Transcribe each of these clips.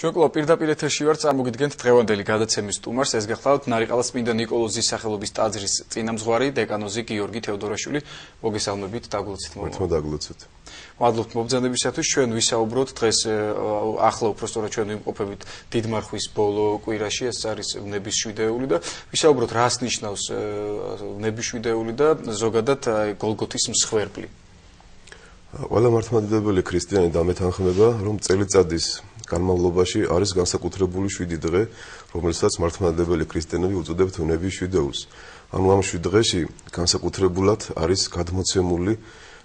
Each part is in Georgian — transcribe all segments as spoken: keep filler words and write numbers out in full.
ჩვენ კლუბ პირდაპირ ეთერში ვართ, წარმოგიდგენთ დღევანდელი გადაცემის სტუმარს, ეს გახლავთ ნარიყალას წმინდა ნიკოლოზის სახელობის ტაძრის წინამძღვარი დეკანოზი გიორგი თეოდორაშვილი. მოგესალმებით, დაგლოცით მომა. მართლა დაგლოცით. მადლობთ მობრძანებისათვის. ჩვენ ვისაუბროთ დღეს ახლა უпростоრად ჩვენ ვიმყოფებით დიდმარხვის ბოლო კვირაში, ეს არის ნებისშვიდეული და ვისაუბროთ რას ნიშნავს ნებისშვიდეული და ზოგადად გოლგოთის მსხვერპლი. ყველა მართლმადიდებელი ქრისტიანი დამეთანხმება, რომ წელიწადის განმავლობაში არის განსაკუთრებული შვიდი დღე, რომელსაც მართლმადიდებელი ქრისტიანები უწოდებთ ნებისშვიდეულს. ანუ ამ შვიდ დღეში განსაკუთრებულად არის გადმოცემული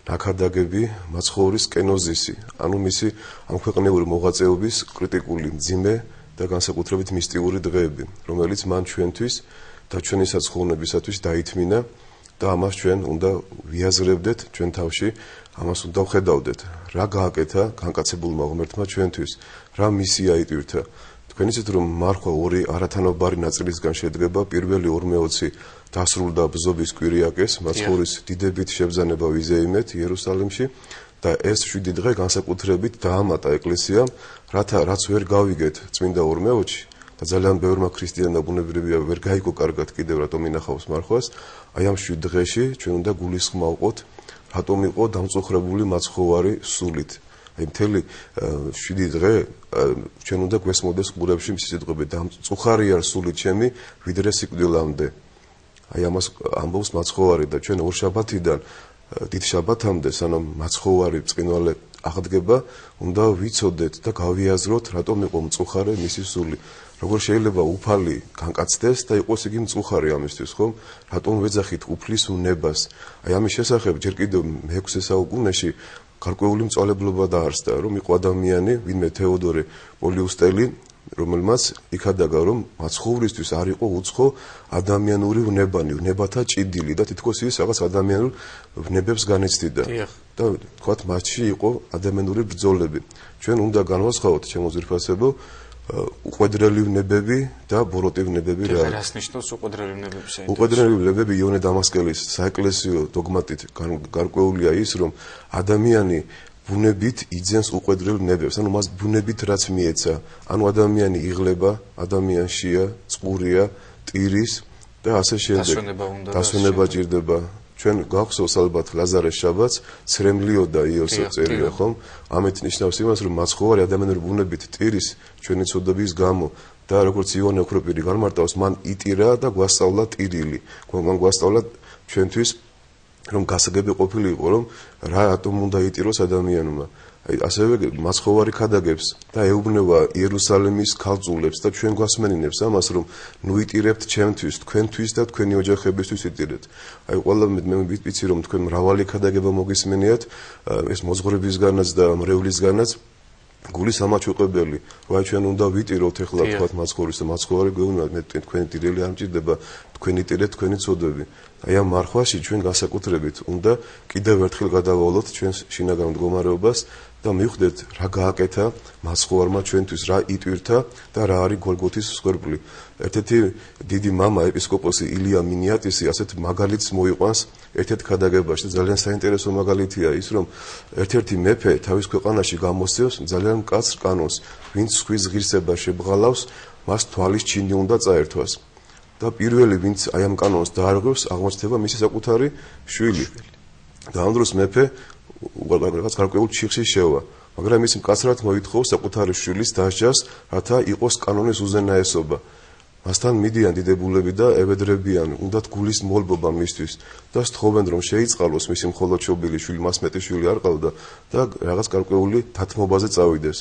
ნაქადაგები მაცხოვრის კენოზისი, ანუ მისი ამქვეყნიური მოღვაწეობის კრიტიკული მძიმე და განსაკუთრებით მისტიური დღეები, რომელიც მან ჩვენთვის და ჩვენი საცხოვნებისათვის დაითმინა და ამას ჩვენ უნდა ვიაზრებდეთ ჩვენ თავში, ამას უნდა ვხედავდეთ, რა გააკეთა განკაცებულმა ღმერთმა ჩვენთვის, რა მისია იტვირთა. თქვენ იცით რომ მარხვა ორი არათანაბარი ნაწილისგან შედგება, პირველი ორმეოცი დასრულდა ბზობის კვირიაკეს, მაცხოვრის დიდებით შებრძანება ვიზეიმეთ იერუსალიმში და ეს შვიდი დღე განსაკუთრებით დაამატა ეკლესიამ, რათა რაც ვერ გავიგეთ წმინდა ორმეოცში და ძალიან ბევრმა ქრისტიანმა ბუნებრივია ვერ გაიგო კარგად კიდევ რატომ ინახავს მარხვას, აი ამ შვიდ დღეში ჩვენ უნდა გულისხმავყოთ რატომ იყო დამწუხრებული მაცხოვარი სულით. აი მთელი შვიდი დღე ჩვენ უნდა გვესმოდეს ყურებში მისი სიტყვები დამწუხარია სულით ჩემი ვიდრე სიკვდილამდე. აი ამას ამბობს მაცხოვარი და ჩვენ ორშაბათიდან დიდ შაბათამდე სანამ მაცხოვარი ბრწყინვალე აღდგება, უნდა ვიცოდეთ და გავიაზროთ რატომ იყო მწუხარე მისი სული. როგორ შეიძლება უფალი განკაცდეს და იყოს იგი მწუხარე ამისთვის, ხომ? რატომ ვეძახით უფლის უნებას? აი ამის შესახებ ჯერ კიდევ მეექვსე საუკუნეში გარკვეული მწვალებლობა დაარსდა, რომ იყო ადამიანი, ვინმე თეოდორე პოლიუსტელი, რომელმაც იქადაგა, რომ მაცხოვრისთვის არ იყო უცხო ადამიანური ვნებანი, ვნებათა ჭიდილი და თითქოს ის რაღაც ადამიანურ ვნებებს განიცდიდა. და თქვათ, მასში იყო ადამიანური ბრძოლები. ჩვენ უნდა განვასხვაოთ, ჩემო ძვირფასებო, უყვედრელი ვნებები და ბოროტი ვნებები რა არის. რას ნიშნავს უყვედრელი ვნებები? უყვედრელი ვნებები იონე დამასკელის საეკლესიო დოგმატით გარკვეულია ის, რომ ადამიანი ბუნებით იძენს უყვედრელ ვნებებს, ანუ მას ბუნებით რაც მიეცა, ანუ ადამიანი იღლება, ადამიანშია, წყურია, ტირის და ასე შემდეგ. დასვენება ჭირდება. ჩვენ გვახსოვს ალბათ ლაზარეს შაბათს, ცრემლიოდა იოსო წერია, ხომ? ამით ნიშნავს იმას, რომ მაცხოვარი ადამიანური ბუნებით ტირის ჩვენი ცოდების გამო და როგორც იონე ოქროპირი განმარტავს, მან იტირა და გვასწავლა ტირილი. მან გვასწავლა ჩვენთვის რომ გასაგები ყოფილიყო, რომ რა ატომ უნდა იტიროს ადამიანმა. აი ასევე მაცხოვარი ქადაგებს და ეუბნება იერუსალიმის ქალწულებს და ჩვენ გვასმენინებს ამას, რომ ნუ იტირებთ ჩემთვის, თქვენთვის და თქვენი ოჯახებისთვის იტირეთ. აი ყველა მე ვიცი რომ თქვენ მრავალი ქადაგება მოგისმენიათ, ეს მოძღვრებისგანაც და მრევლისგანაც გულის ამაჩუყებელი, რა ჩვენ უნდა ვიტიროთ ეხლა თქვათ მაცხოვრის და მაცხოვარი გვეუბნება, მე თქვენი ტირელი არ მჭირდება, თქვენი ტირეთ, თქვენი ცოდვები. აი ამ მარხვაში ჩვენ განსაკუთრებით უნდა კიდევ ერთხელ გადავალოთ ჩვენს შინაგან მდგომარეობას და მივხვდეთ რა გააკეთა მაცხოვარმა ჩვენთვის, რა იტვირთა და რა არის გოლგოთის მსხვერპლი. ერთ-ერთი დიდი მამა ეპისკოპოსი ილია მინიატისი ასეთ მაგალითს მოიყვანს ერთ-ერთ ქადაგებაში. ძალიან საინტერესო მაგალითია ის, რომ ერთ-ერთი მეფე თავის ქვეყანაში გამოსცემს ძალიან მკაცრ კანონს, ვინც სხვის ღირსება შებღალავს, მას თვალის ჩინი უნდა წაერთვას. და პირველი ვინც აი ამ კანონს დაარღვევს, აღმოჩნდება მისი საკუთარი შვილი. და ამ დროს მეფე რაღაც გარკვეულ ჩიხში შევა, მაგრამ ის მკაცრად მოითხოვს საკუთარი შვილის დასჯას, რათა იყოს კანონის უზენაესობა. მასთან მიდიან დიდებულები და ევედრებიან, უნდათ გულის მოლბობა მისთვის და სთხოვენ რომ შეიწყალოს მისი მხოლოდ შობილი შვილი, მას მეტი შვილი არ ყავდა და რაღაც გარკვეული დათმობაზე წავიდეს.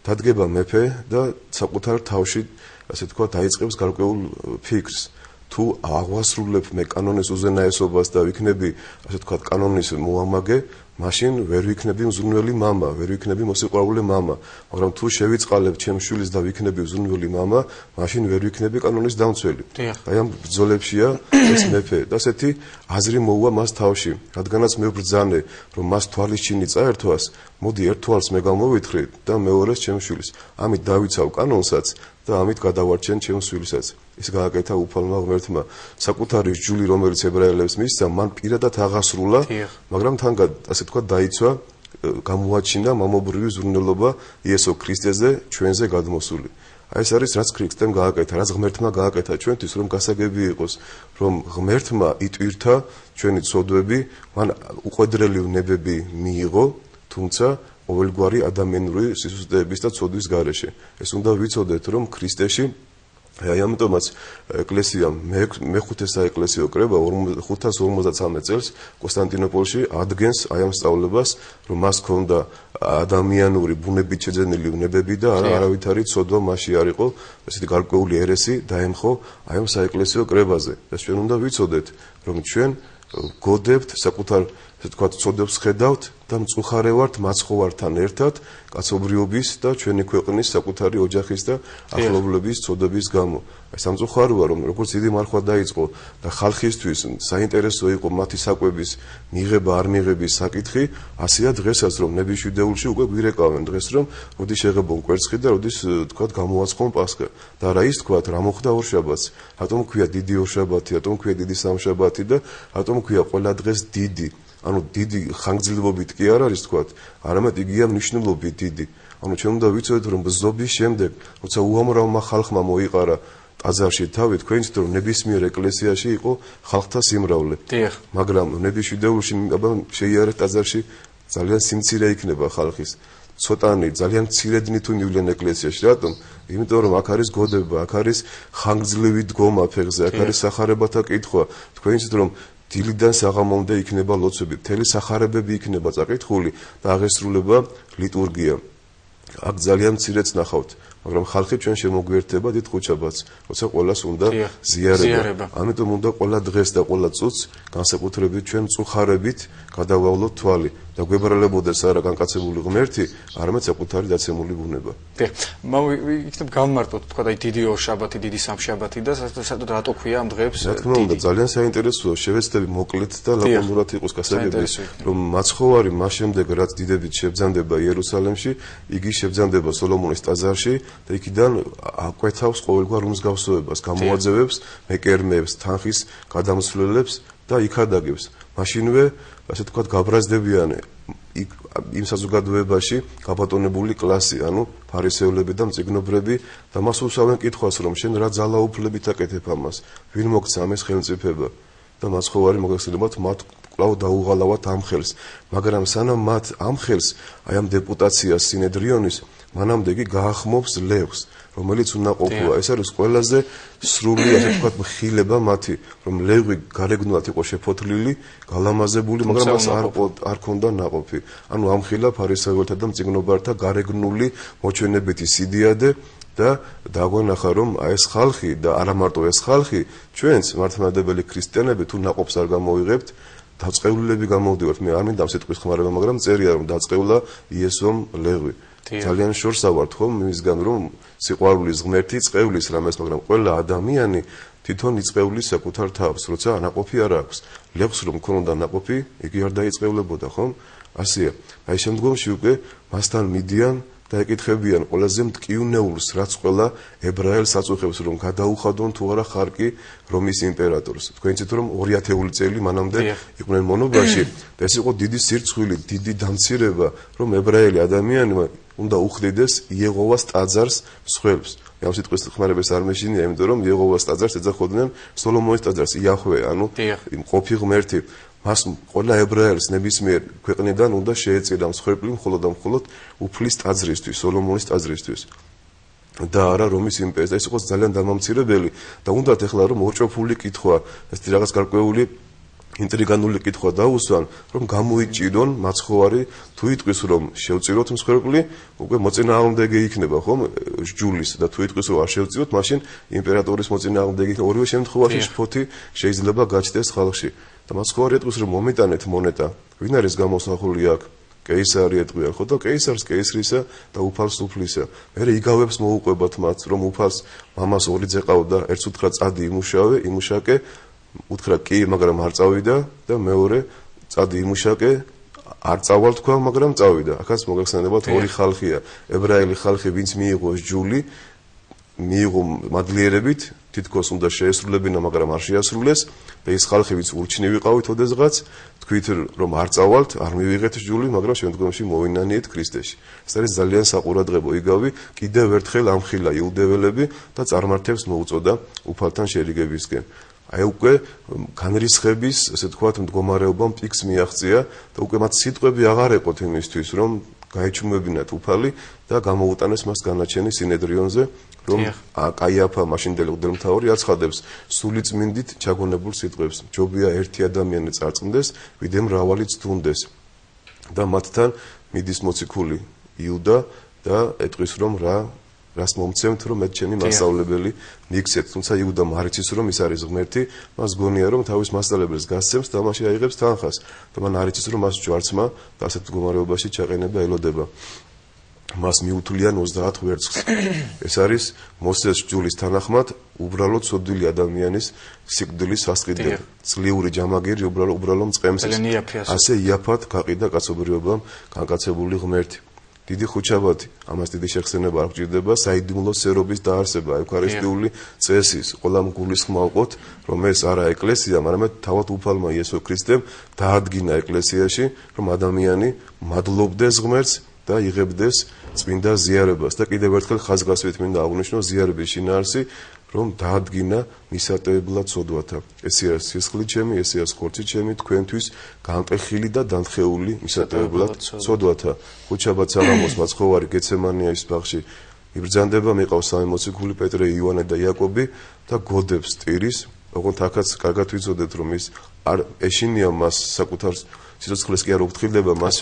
დადგება მეფე და საკუთარ თავში ასე თქვა დაიწყებს გარკვეულ ფიქრს. თუ აღვასრულებ მე კანონის უზენაესობას და ვიქნები ასე თქვა კანონის მოამაგე, მაშინ ვერ ვიქნები მზრუნველი მამა, ვერ ვიქნები მოსიყვარულე მამა, მაგრამ თუ შევიწყალებ ჩემ შვილს და ვიქნები მზრუნველი მამა, მაშინ ვერ ვიქნები კანონის დამცველი. აი ამ ბრძოლებშია ეს მეფე და ასეთი აზრი მოუვა მას თავში, რადგანაც მე ვბრძანე, რომ მას თვალის ჩინი წაერთვას, მოდი ერთ თვალს მე გამოვითხრე და მეორეს ჩემ შვილს. ამით დავიცავ კანონსაც და ამით გადავარჩენ ჩემს შვილსაც. ის გააკეთა უფალმა ღმერთმა საკუთარი ჯული, რომელიც ებრაელებს მისცა, მან პირადად აღასრულა, მაგრამ თან ასე თქვა დაიცვა გამოაჩინა მამობრივი ზრუნველობა იესო ქრისტეზე ჩვენზე გადმოსული. აი ეს არის რაც ქრისტემ გააკეთა, რაც ღმერთმა გააკეთა ჩვენთვის, რომ გასაგები იყოს, რომ ღმერთმა იტვირთა ჩვენი ცოდვები, მან უყვედრელი ნებები მიიღო, თუმცა ყოველგვარი ადამიანური სისუსტეების და ცოდვის გარეშე. ეს უნდა ვიცოდეთ, რომ ქრისტეში აი ამიტომაც ეკლესიამ მეხუთე საეკლესიო კრება ხუთას ორმოცდათვრამეტ წელს კონსტანტინოპოლში ადგენს აი ამ სწავლებას, რომ მას ჰქონდა ადამიანური ბუნებით შეძენილი უნებები და არა არავითარი ცოდვა მასში არ იყო, ესეთი გარკვეული ერესი დაემხო აი ამ საეკლესიო კრებაზე. და ჩვენ უნდა ვიცოდეთ, რომ ჩვენ გოდებთ საკუთარ ესე თქვა ცოდებს ხედავთ და მწუხარე ვართ მაცხოვართან ერთად კაცობრიობის და ჩვენი ქვეყნის საკუთარი ოჯახის და ახლობლების ცოდების გამო. აი სამწუხაროა რომ როგორც დიდი მარხვა დაიწყო და ხალხისთვის საინტერესო იყო მათი საკვების მიღება არ მიღების საკითხი, ასეა დღესაც რომ ნებიშვიდეულში უკვე გვირეკავენ დღეს რომ როდი შეღებონ კვერცხი და როდის თქვა გამოაცხონ პასხა. და რა ის თქვა რა მოხდა ორშაბათს, რატომ ქვია დიდი ორშაბათი, რატომ ქვია დიდი სამშაბათი და რატომ ქვია ყველა დღეს დიდი. ანუ დიდი ხანგრძლივობით კი არ არის თქვა, არამედ იგია მნიშვნელობით დიდი. ანუ ჩვენ უნდა ვიცოდეთ რომ ბზობის შემდეგ, როცა უამრავმა ხალხმა მოიყარა ტაძარში თავი, თქვენ იცით რომ ნებისმიერ ეკლესიაში იყო ხალხთა სიმრავლე. მაგრამ ნებიშვიდეულში აბა შეიარეთ ტაძარში ძალიან სიმცირე იქნება ხალხის. ცოტანი ძალიან მცირედნი თუ მივლენ ეკლესიაში, რატომ? იმიტომ რომ აქ არის გოდება, აქ არის ხანგრძლივი დგომა ფეხზე, აქ არის სახარებათა კითხვა. თქვენ იცით რომ დილიდან საღამომდე იქნება ლოცვები, მთელი სახარებები იქნება წაკითხული და აღესრულება ლიტურგია. აქ ძალიან მცირეც ნახავთ, მაგრამ ხალხი ჩვენ შემოგვიერთდება დიდ ხუთშაბათს, როცა ყველას უნდა ზიარება. ამიტომ უნდა ყველა დღეს და ყველა წუთს განსაკუთრებით ჩვენ მწუხარებით გადავავლოთ თვალი და გვებრალებოდეს არა განკაცებული ღმერთი, არამედ საკუთარი დაცემული ბუნება. დიახ, იქნებ გამმარტოთ თქვა და დიდი ორშაბათი, დიდი სამშაბათი და საერთოდ რატო ქვია ამ დღეებს? რა თქმა უნდა, ძალიან საინტერესოა, შევეცდები მოკლედ და ლაკონურად იყოს გასაგები, რომ მაცხოვარი მას შემდეგ რაც დიდებით შებძანდება იერუსალემში, იგი შებძანდება სოლომონის ტაძარში და იქიდან აკვეთავს ყოველგვარ უმსგავსოებას, გამოაძევებს მეკერმეებს, თანხის გადამსვლელებს და იქადაგებს. მაშინვე, ასე თქვა, გაბრაზდებიან იმ საზოგადოებაში გაბატონებული კლასი, ანუ ფარისევლები და მწიგნობრები და მას უსვამენ კითხვას, რომ შენ რა ძალაუფლებით აკეთებ ამას, ვინ მოგცა ამის ხელმწიფება და მაცხოვარი მოგეხსენებათ მათ კვლავ დაუღალავათ ამ ხელს, მაგრამ სანამ მათ ამ ხელს, აი ამ დეპუტაციას სინედრიონის, მანამდე იგი გაახმობს ლევს, რომელიც უნდა ყოფილა. ეს არის ყველაზე სრული, ასე ვთქვათ, მხილება მათი, რომ ლევი გარეგნულად იყო შეფოთლილი, გალამაზებული, მაგრამ მას არ არ ქონდა ნაყოფი. ანუ ამხილა ფარისეველთა და მწიგნობართა გარეგნული მოჩვენებითი სიდიადე და დაგვენახა, რომ აი ეს ხალხი და არა მარტო ეს ხალხი, ჩვენც მართლმადიდებელი ქრისტიანები თუ ნაყოფს არ გამოვიღებთ, დაწყევლილები გამოვდივართ. მე არ მინდა ამ სიტყვის ხმარება, მაგრამ წერია რომ დაწყევლა იესომ ლევი. ძალიან შორსა ვართ ხომ იმისგან რომ სიყვარულის ღმერთი წყევლის რამეს, მაგრამ ყველა ადამიანი თვითონ იწყევლის საკუთარ თავს, როცა ნაყოფი არ აქვს. ლევს რომ ქონოდა ნაყოფი, იგი არ დაიწყევლებოდა, ხომ? ასეა. აი შემდგომში უკვე მასთან მიდიან და ეკითხებიან ყველაზე მტკივნეულს, რაც ყველა ებრაელს აწუხებს, რომ გადაუხადონ თუ არა ხარკი რომის იმპერატორს. თქვენ იცით რომ ორი ათეული წელი მანამდე იყვნენ მონობაში და ეს იყო დიდი სირცხვილი, დიდი დამცირება, რომ ებრაელი ადამიანმა უნდა უხდიდეს იეღოვას ტაძარს მსხვერპლს. ამ სიტყვის ხმარებას არ მეშინია, იმიტომ რომ იეღოვას ტაძარს ეძახოდნენ სოლომონის ტაძარს, იაჰვე, ანუ მყოფი ღმერთი. მას ყველა ებრაელს ნებისმიერ ქვეყნიდან უნდა შეეწირა მსხვერპლი მხოლოდ და მხოლოდ უფლის ტაძრისთვის, სოლომონის ტაძრისთვის. და არა რომის იმპერიის. ეს იყო ძალიან დამამცირებელი და უნდათ ეხლა რომ ორჭოფული კითხვა, ეს რაღაც გარკვეული ინტრიგანული კითხვა დაუსვან, რომ გამოიჭირონ მაცხოვარი თუ იტყვის რომ შევწიროთ მსხვერპლი, უკვე მოწინააღმდეგე იქნება ხომ ჯულის და თუ იტყვის რომ არ შევწიროთ, მაშინ იმპერატორის მოწინააღმდეგე იქნება. ორივე შემთხვევაში შფოთი შეიძლება გაჩნდეს ხალხში. და მაცხოვარი იტყვის რომ მომიტანეთ მონეტა, ვინ არის გამოსახული აქ? კეისარი ეტყვიან, ხო და კეისარს კეისრისა და უფალს უფლისა. მერე იგავებს მოუყვებათ მათ, რომ უფალს მამას ორი ძე ყავდა, ერთს უთხრა წადი იმუშავე, იმუშაკე, უთხრა კი, მაგრამ არ წავიდა და მეორე წადი იმუშაკე, არ წავალ თქვა, მაგრამ წავიდა. ახაც მოგეხსენებათ ორი ხალხია, ებრაელი ხალხი, ვინც მიიღო ჯული, მიიღო მადლიერებით თითქოს უნდა შეესრულებინა, მაგრამ არ შეასრულეს და ის ხალხი, ვინც ურჩნი ვიყავით ოდესღაც, თქვით რომ არ წავალთ, არ მივიღეთ ჯული, მაგრამ შემდგომში მოვინანიეთ ქრისტეში. ეს არის ძალიან საყურადღებო იგავი, კიდევ ერთხელ ამხილა იუდეველები და წარმართებს მოუწოდა უფალთან შერიგებისკენ. აი უკვე განრისხების, ესე თქვათ, მდგომარეობამ პიკს მიაღწია და უკვე მათ სიტყვები აღარ ეყოთ იმისთვის, რომ გაეჩუმებინათ უფალი და გამოუტანეს მას განაჩენი სინედრიონზე, რომ კაიაფა მაშინდელი მღვდელმთავარი აცხადებს სულიწმინდით ჩაგონებულ სიტყვებს. ჯობია ერთი ადამიანი წარწმდეს, ვიდრე მრავალი ცდუნდეს. და მათთან მიდის მოციქული იუდა და ეტყვის რომ რა რას მომცემთ რომ მე ჩემი მასწავლებელი მიქცეთ. თუმცა იუდამ არ იცის რომ ის არის ღმერთი, მას გონია რომ თავის მასწავლებელს გასცემს და მაშინ აიღებს თანხას. და მან არ იცის რომ მას ჯვარცმა და ასეთ მდგომარეობაში ჩაყენება ელოდება. მას მიუთვლიან ოცდაათ ვერცხლს. ეს არის მოსეს ჯულის თანახმად უბრალოდ ცოდვილი ადამიანის სიკვდილის სასყიდლება. ძლიური ჯამაგირი უბრალოდ უბრალოდ მწყემსის. ასე იაფად გაყიდა კაცობრიობამ განკაცებული ღმერთი. დიდი ხუჩაბათი, ამას დიდი შეხსენება არ გჭირდება, საიდუმლო სერობის დაარსება, ევქარისტიული წესის, ყველა მგულისხმა ვყოთ, რომ ეს არა ეკლესია, მაგრამ თავად უფალმა იესო ქრისტემ დაადგინა ეკლესიაში, რომ ადამიანი მადლობდეს ღმერთს და იღებდეს წმინდა ზიარებას. და კიდევ ერთხელ ხაზგასმით მინდა აღვნიშნო ზიარების შინაარსი, რომ დაადგინა მისატევებლად ცოდვათა. ესეა სისხლი ჩემი, ესეა ხორცი ჩემი, თქვენთვის განყეხილი და დამთხეული მისატევებლად ცოდვათა. ხუჩაბათ საღამოს მაცხოვარი გეცემანიის ბაღში იბრძანდება, მიყავს სამი მოციქული პეტრე, იოანე და იაკობი და გოდებს ტირის. ოღონდ აქაც კარგად ვიცოდეთ, რომ ის არ ეშინია მას საკუთარ სიცოცხლეს კი არ უფრთხილდება მას.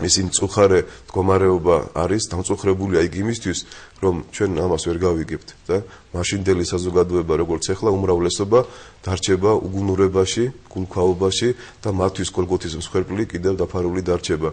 მისი მწუხარე მდგომარეობა არის დამწუხრებულია იქ იმისთვის, რომ ჩვენ ამას ვერ გავიგებთ და მაშინდელი საზოგადოება როგორც ეხლა უმრავლესობა დარჩება უგუნურებაში, გულქვაობაში და მათთვის გოლგოთის მსხვერპლი კიდევ დაფარული დარჩება.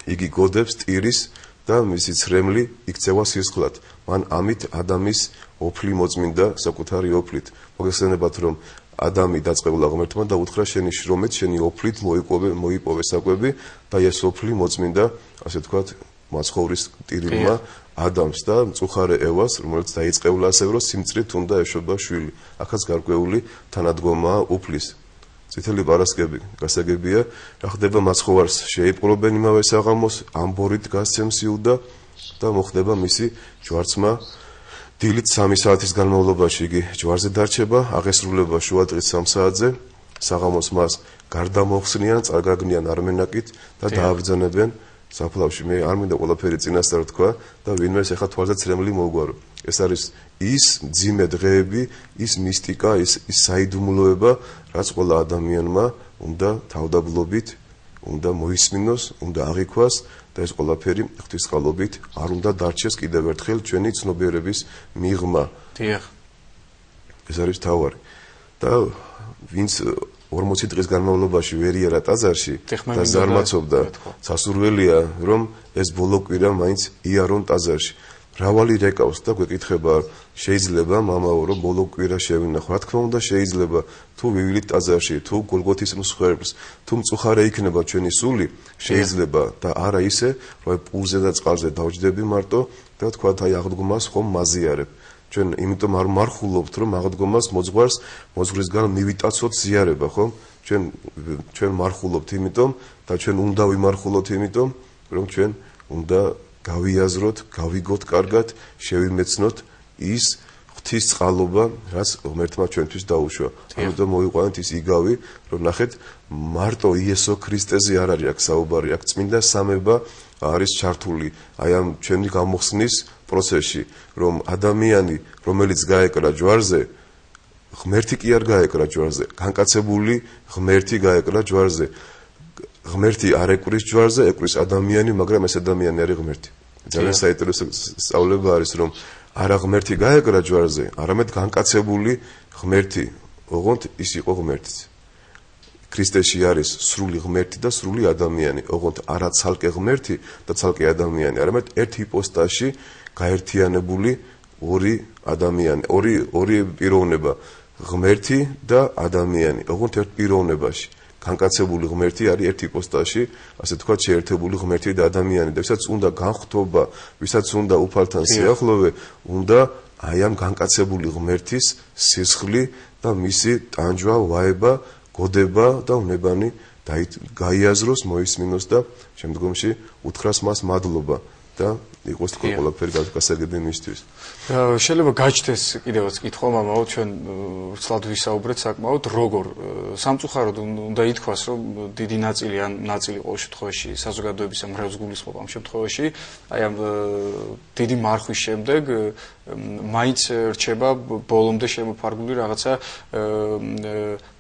იგი გოდებს ტირის და მისი ცრემლი იქცევა სისხლად. მან ამით ადამის ოფლი მოწმინდა საკუთარი ოფლით. მოგეხსენებათ რომ ადამი დაწყებულა ღმერთმა და უთხრა შენი შრომით, შენი ოფლით მოიპოვე, მოიპოვე საკვები და ეს ოფლი მოწმინდა, ასე თქვათ, მაცხოვრის ტირილმა ადამს და მწუხარე ევას, რომელიც დაიწყებულა ასევე რომ სიმწრით უნდა ეშვება შვილი. ახაც გარკვეული თანადგომაა ოფლის. წითელი პარასკევი გასაგებია, რა ხდება მაცხოვარს შეიპყრობენ იმავე საღამოს, ამბორით გასცემს იუდა და მოხდება მისი ჯვარცმა. დილით სამი საათის განმავლობაში იგი ჯვარზე დარჩება, აღესრულება შუადღის სამ საათზე, საღამოს მას გარდამოხსნიან, წარგაგნიან არმენაკით და დააბრძანებენ საფლავში. მე არ მინდა ყველაფერი წინასწარ თქვა და ვინმეს ეხა თვალზე ცრემლი მოუგვარო. ეს არის ის მძიმე დღეები, ის მისტიკა, ის ის საიდუმლოება, რაც ყველა ადამიანმა უნდა თავდაბლობით, უნდა მოისმინოს, უნდა აღიქვას და ეს ყველაფერი ღვთისმსხალობით არ უნდა დარჩეს კიდევ ერთხელ ჩვენი ცნობიერების მიღმა. დიახ. ეს არის თავარი. და ვინც ორმოცი დღის განმავლობაში ვერ იერა ტაძარში და ზარმაცობდა, სასურველია რომ ეს ბოლო კვირა მაინც იარონ ტაძარში. მრავალი რეკავს და გვეკითხება, შეიძლება მამაო რომ ბოლო კვირა შევინახო. რა თქმა უნდა შეიძლება, თუ ვივილით ტაძარში, თუ გოლგოთის მსხვერპლს, თუ მწუხარე იქნება ჩვენი სული, შეიძლება და არა ისე, რომ პურზე და წყალზე დავჯდები მარტო და თქვა აი აღდგომას ხომ მაზიარებ. ჩვენ იმიტომ არ მარხულობთ, რომ აღდგომას მოძღვარს მოძღვრისგან მივიტაცოთ ზიარება, ხო? ჩვენ ჩვენ მარხულობთ იმიტომ და ჩვენ უნდა ვიმარხულოთ იმიტომ, რომ ჩვენ უნდა გავიაზროთ, გავიგოთ კარგად, შევიმეცნოთ ის ღვთის წყალობა, რაც ღმერთმა ჩვენთვის დაუშვა. ამიტომ მოვიყვანეთ ის იგავი, რომ ნახეთ, მარტო იესო ქრისტეზე არ არის აქ საუბარი, აქ წმინდა სამება არის ჩართული აი ამ ჩვენი გამოხსნის პროცესში, რომ ადამიანი, რომელიც გაეკრა ჯვარზე, ღმერთი კი არ გაეკრა ჯვარზე, განკაცებული ღმერთი გაეკრა ჯვარზე. ღმერთი არ ეკვრის ჯვარზე, ეკვრის ადამიანი, მაგრამ ეს ადამიანი არის ღმერთი. ძალიან საინტერესო სწავლება არის, რომ არა ღმერთი გაეკრა ჯვარზე, არამედ განკაცებული ღმერთი, ოღონდ ის იყო ღმერთიც. ქრისტეში არის სრული ღმერთი და სრული ადამიანი, ოღონდ არა ცალკე ღმერთი და ცალკე ადამიანი, არამედ ერთ იპოსტაში გაერთიანებული ორი ადამიანი, ორი ორი პიროვნება, ღმერთი და ადამიანი, ოღონდ ერთ პიროვნებაში. განკაცებული ღმერთი არის ერთ იპოსტაში, ასე თქვა, შეერთებული ღმერთი და ადამიანი და ვისაც უნდა განხთობა, ვისაც უნდა უფალთან სიახლოვე, უნდა აი ამ განკაცებული ღმერთის სისხლი და მისი ტანჯვა, ვაება, გოდება და უნებანი გაიაზროს, მოისმინოს და შემდგომში უთხრას მას მადლობა და იყოს თქვენ ყველაფერი გასაგები მისთვის. შეიძლება გაჩნდეს კიდევაც კითხვა, მამაო, ჩვენ ვრცლად ვისაუბრეთ საკმაოდ, როგორ სამწუხაროდ უნდა ითქვას, რომ დიდი ნაწილი ან ნაწილი ყოველ შემთხვევაში საზოგადოების მრევლს გულისხმობ ამ შემთხვევაში, აი ამ დიდი მარხვის შემდეგ მაინც რჩება ბოლომდე შემოფარგლული რაღაცა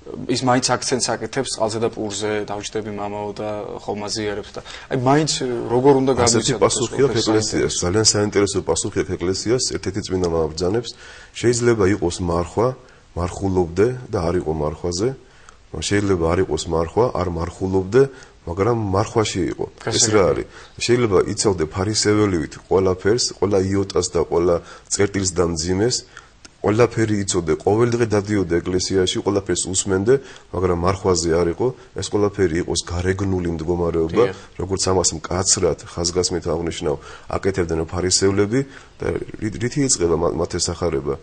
ის მაინც აქცენტს აკეთებს წყალზე და პურზე, დავჯდები მამაო და ხომაზიარებს და აი მაინც როგორ უნდა გამოიცადოს პასუხი აქვს ეკლესიას, ძალიან საინტერესო პასუხი აქვს ეკლესიას, ერთ-ერთი წმინდა მამა ბრძანებს, შეიძლება იყოს მარხვა, მარხულობდე და არ იყო მარხვაზე, შეიძლება არ იყოს მარხვა, არ მარხულობდე, მაგრამ მარხვაში იყო. ეს რა არის? შეიძლება იცავდე ფარისეველივით ყველაფერს, ყველა იოტას და ყველა წერტილს და მძიმეს, ყველაფერი იცოდე, ყოველდღე დადიოდე ეკლესიაში, ყველაფერს უსმენდე, მაგრამ მარხვაზე არ იყო, ეს ყველაფერი იყოს გარეგნული მდგომარეობა, როგორც ამას მკაცრად ხაზგასმით აღნიშნავ, აკეთებდნენ ფარისევლები და რითი იწყება მათ ეს ახარება?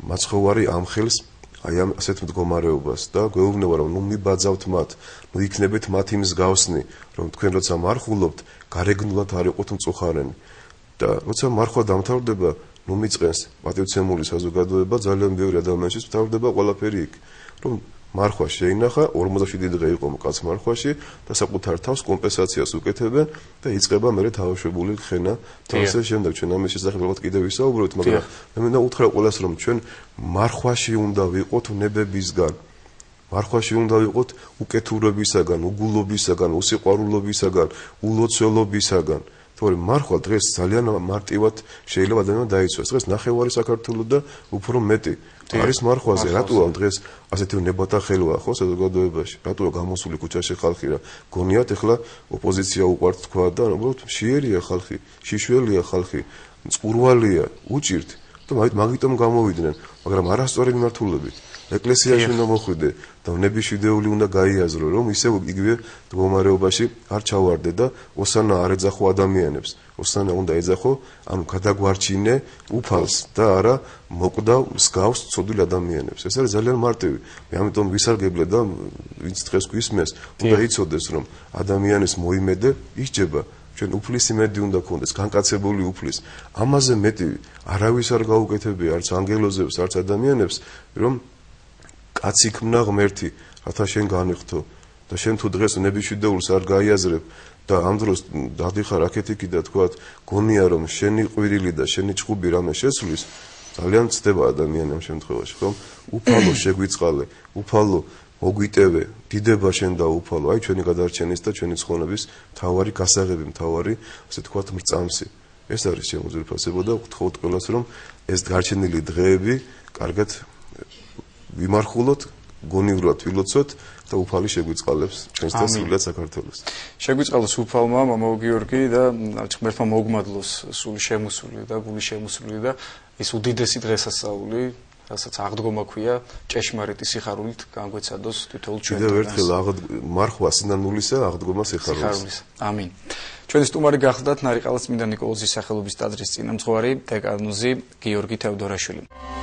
მაცხოვარი ამ ხელს აი ამ ასეთ მდგომარეობას და გვეუბნება რომ ნუ მიბაძავთ მათ, ნუ იქნებით მათი მსგავსნი, რომ თქვენ როცა მარხულობთ, გარეგნულად არ იყოთ მწუხარენი. და როცა მარხვა დამთავრდება, ნუ მიწყენს პატივცემული საზოგადოება, ძალიან ბევრი ადამიანის მთავრდება ყველაფერი იქ. რომ მარხვა შეინახა, ორმოცდაშვიდი დღე იყო მკაც მარხვაში და საკუთარ თავს კომპენსაციას უკეთებენ და იწყება მერე თავშებული ხენა და ასე შემდეგ. ჩვენ ამის შესახებ ალბათ კიდევ ვისაუბრებთ, მაგრამ მე მინდა უთხრა ყველას, რომ ჩვენ მარხვაში უნდა ვიყოთ ნებებისგან. მარხვაში უნდა ვიყოთ უკეთურებისაგან, უგულობისაგან, უსიყვარულობისაგან, ულოცველობისაგან. თორემ მარხვა დღეს ძალიან მარტივად შეიძლება ადამიანმა დაიცვას. დღეს ნახევარი საქართველოს და უფრო მეტი არის მარხვაზე. რატოა დღეს ასეთი ნებათა ხელვა ხო საზოგადოებაში? რატოა გამოსული ქუჩაში ხალხი რა? გონიათ ეხლა ოპოზიცია უყვართ თქვა და უბრალოდ შიერია ხალხი, შიშველია ხალხი, წყურვალია, უჭირთ და მაგიტომ გამოვიდნენ, მაგრამ არასწორი მიმართულებით. ეკლესიაში უნდა მოხვიდე და ნებიშვიდეული უნდა გაიაზრო, რომ ისევ იგივე მდგომარეობაში არ ჩავარდე და ოსანა არ ეძახო ადამიანებს. ოსანა უნდა ეძახო, ანუ გადაგვარჩინე უფალს და არა მოკვდა მსგავს ცოდვილ ადამიანებს. ეს არის ძალიან მარტივი. მე ამიტომ ვისარგებლე და ვინც დღეს გვისმენს, უნდა იცოდეს, რომ ადამიანის მოიმედე ისჯება. ჩვენ უფლის იმედი უნდა გქონდეს, განკაცებული უფლის. ამაზე მეტი არავის არ გაუკეთებია, არც ანგელოზებს, არც ადამიანებს, რომ კაცი ქმნა ღმერთი, რათა შენ განიხთო და შენ თუ დღეს ნებიშვიდეულს არ გაიაზრებ და ამ დროს დადიხარ აქეთიკი და თქვა გონია რომ შენი ყვირილი და შენი ჭუბი რამე შესვლის, ძალიან ცდება ადამიანი ამ შემთხვევაში, ხომ? უფალო შეგვიწყალე, უფალო მოგვიტევე, დიდება შენ და უფალო, აი ჩვენი გადარჩენის და ჩვენი ცხონების მთავარი გასაღები, მთავარი, ასე თქვა მრწამსი. ეს არის ჩემო ძვირფასებო და ვთხოვთ ყველას, რომ ეს გარჩენილი დღეები კარგად ვიმარხულოთ, გონივრად ვილოცოთ და უფალი შეგვიწყალებს ჩვენს და სრულად საქართველოს. შეგვიწყალოს უფალმა მამაო გიორგი და ღმერთმა მოგმადლოს სული შემოსული და გული შემოსული და ის უდიდესი დღესასწაული, რასაც აღდგომა ქვია, ჭეშმარიტი სიხარულით განგვეცადოს თითოეულ ჩვენ. კიდევ ერთხელ მარხვა სინანულისა, აღდგომა სიხარულის. ამინ. ჩვენი სტუმარი გახლდათ ნარიყალას წმინდა ნიკოლოზის სახელობის ტაძრის წინამძღვარი დეკანოზი გიორგი თევდორაშვილი.